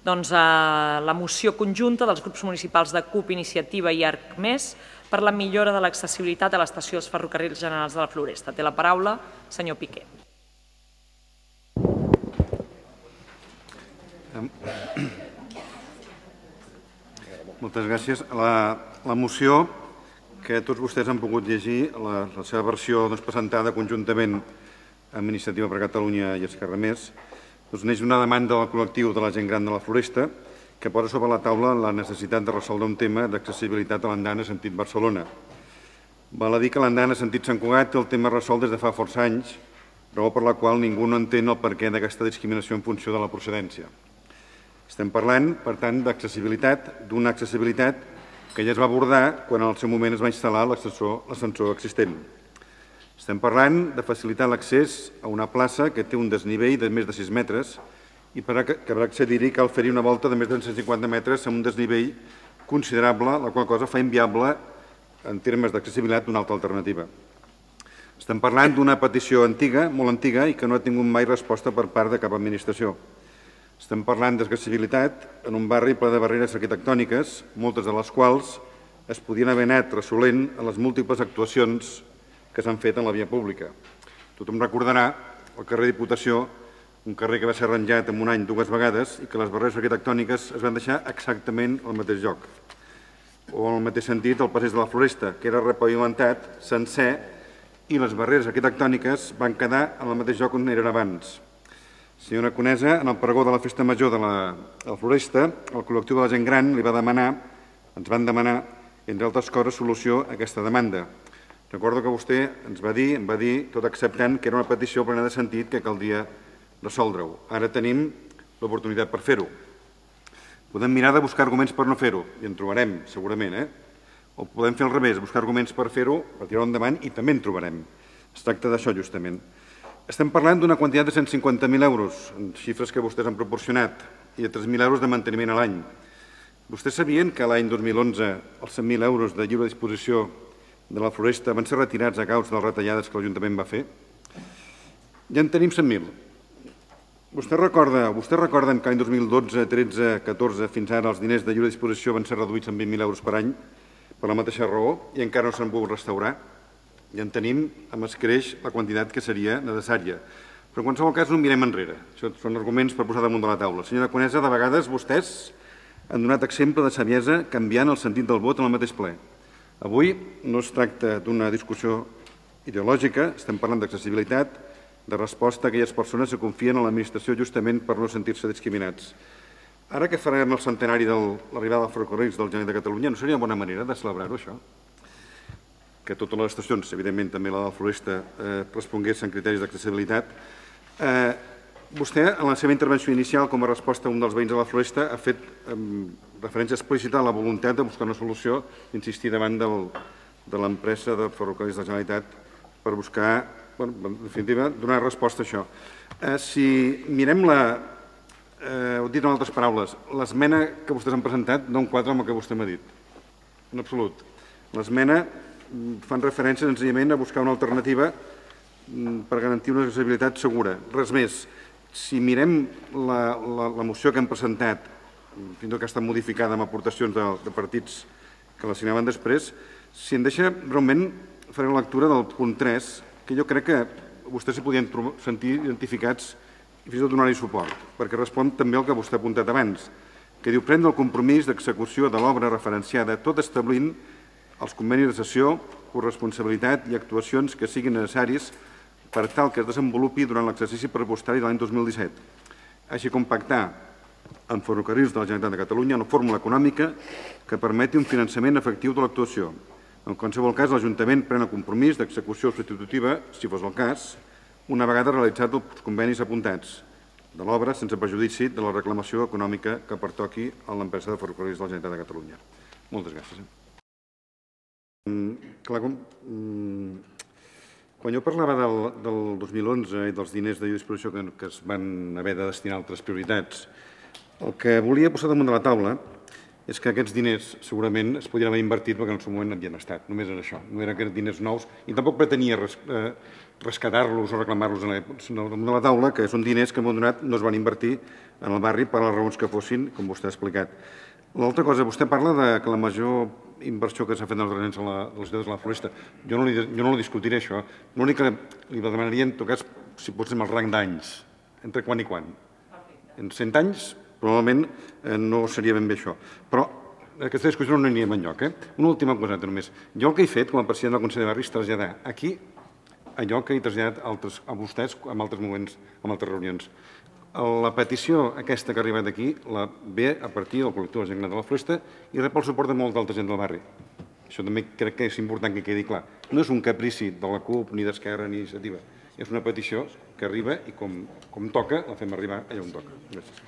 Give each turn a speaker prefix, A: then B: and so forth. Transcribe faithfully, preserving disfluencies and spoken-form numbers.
A: doncs, la moció conjunta dels grups municipals de CUP, Iniciativa i ArcMés per la millora de l'accessibilitat a l'estació dels ferrocarrils generals de la Floresta. Té la paraula senyor Piqué.
B: Moltes gràcies. La moció que tots vostès han pogut llegir, la seva versió presentada conjuntament amb Iniciativa per Catalunya i Esquerra Més, neix d'una demanda del col·lectiu de la gent gran de la Floresta que posa sobre la taula la necessitat de resoldre un tema d'accessibilitat a l'andana sentit Barcelona. Val a dir que l'andana sentit Sant Cugat té el tema resolt des de fa força anys, raó per la qual ningú no entén el perquè d'aquesta discriminació en funció de la procedència. Estem parlant, per tant, d'accessibilitat, d'una accessibilitat que ja es va abordar quan en el seu moment es va instal·lar l'ascensor existent. Estem parlant de facilitar l'accés a una plaça que té un desnivell de més de sis metres i per accedir-hi cal fer-hi una volta de més de cent cinquanta metres amb un desnivell considerable, la qual cosa fa inviable, en termes d'accessibilitat, una altra alternativa. Estem parlant d'una petició antiga, molt antiga, i que no ha tingut mai resposta per part de cap administració. Estem parlant d'accessibilitat en un barri ple de barreres arquitectòniques, moltes de les quals es podien haver anat resolent a les múltiples actuacions que s'han fet en la via pública. Tothom recordarà el carrer Diputació, un carrer que va ser arranjat en un any dues vegades i que les barreres arquitectòniques es van deixar exactament al mateix lloc. O en el mateix sentit el passeig de la Floresta, que era repavimentat sencer i les barreres arquitectòniques van quedar en el mateix lloc on eren abans. Senyora Conesa, en el pregó de la Festa Major de la Floresta, el col·lectiu de la gent gran li va demanar, ens van demanar, entre altres coses, solució a aquesta demanda. Recordo que vostè ens va dir, em va dir, tot acceptant que era una petició plena de sentit que caldria resoldre-ho. Ara tenim l'oportunitat per fer-ho. Podem mirar de buscar arguments per no fer-ho, i en trobarem, segurament, eh? O podem fer al revés, buscar arguments per fer-ho, per tirar-ho endavant, i també en trobarem. Es tracta d'això, justament. Estem parlant d'una quantitat de cent cinquanta mil euros, en xifres que vostès han proporcionat, i de tres mil euros de manteniment a l'any. Vostès sabien que l'any dos mil onze els cent mil euros de lliure disposició de la Floresta van ser retirats a causa de les retallades que l'Ajuntament va fer? Ja en tenim cent mil. Vostès recorden que l'any dos mil dotze, tretze, catorze, fins ara els diners de lliure disposició van ser reduïts en vint mil euros per any per la mateixa raó i encara no s'han pogut restaurar? Ja en tenim amb escreix la quantitat que seria necessària. Però en qualsevol cas no mirem enrere. Això són arguments per posar damunt de la taula. Senyora Conesa, de vegades vostès han donat exemple de saviesa canviant el sentit del vot en el mateix ple. Avui no es tracta d'una discussió ideològica, estem parlant d'accessibilitat, de resposta a aquelles persones que confien en l'administració justament per no sentir-se discriminats. Ara que farem el centenari de l'arribada dels ferrocarrils del Generalitat de Catalunya, no seria una bona manera de celebrar-ho, això? Que totes les estacions, evidentment també la de la Floresta, responguessin criteris d'accessibilitat. Vostè, en la seva intervenció inicial, com a resposta a un dels veïns de la Floresta, ha fet referència explícita a la voluntat de buscar una solució, insistir davant de l'empresa de ferrocarrils de la Generalitat per buscar, en definitiva, donar resposta a això. Si mirem la, ho he dit en altres paraules, l'esmena que vostès han presentat no enquadra amb el que vostè m'ha dit, en absolut. L'esmena fan referència senzillament a buscar una alternativa per garantir una accessibilitat segura. Res més. Si mirem la moció que hem presentat, fins i tot que ha estat modificada amb aportacions de partits que la signaven després, si em deixa, breument faré la lectura del punt tres, que jo crec que vostès s'hi podien sentir identificats i fins i tot donar-hi suport, perquè respon també al que vostè ha apuntat abans, que diu prendre el compromís d'execució de l'obra referenciada, tot establint els convenis de cessió, corresponsabilitat i actuacions que siguin necessaris per tal que es desenvolupi durant l'exercici pressupostari de l'any dos mil disset, així com pactar amb Ferrocarrils de la Generalitat de Catalunya una fórmula econòmica que permeti un finançament efectiu de l'actuació. En qualsevol cas, l'Ajuntament pren el compromís d'execució substitutiva, si fos el cas, una vegada realitzat els convenis apuntats de l'obra sense perjudici de la reclamació econòmica que pertoqui a l'empresa de Ferrocarrils de la Generalitat de Catalunya. Moltes gràcies. Clar, quan jo parlava del dos mil onze i dels diners de disposició que es van haver de destinar a altres prioritats, el que volia posar damunt de la taula és que aquests diners segurament es podrien haver invertit perquè en el seu moment havien estat. Només era això. No eren aquests diners nous i tampoc pretenia rescatar-los o reclamar-los damunt de la taula, que són diners que en un moment donat no es van invertir en el barri per les raons que fossin, com vostè ha explicat. L'altra cosa, vostè parla que la major inversió que s'ha fet en els drets als ciutadans de la Floresta. Jo no li discutiré això. L'únic que li demanaria, en tot cas, si pot ser amb el rang d'anys, entre quan i quan. En cent anys, probablement no seria ben bé això. Però aquesta discussió no anirem enlloc. Una última cosa, només. Jo el que he fet, com a president del Consell de Barri, és traslladar aquí allò que he traslladat a vostès en altres moments, en altres reunions. La petició aquesta que ha arribat aquí la ve a partir del col·lectiu de gent gran de la Floresta i rep el suport de molta altra gent del barri. Això també crec que és important que quedi clar. No és un caprici de la CUP, ni d'Esquerra, ni d'iniciativa. És una petició que arriba i com toca la fem arribar allà on toca. Gràcies.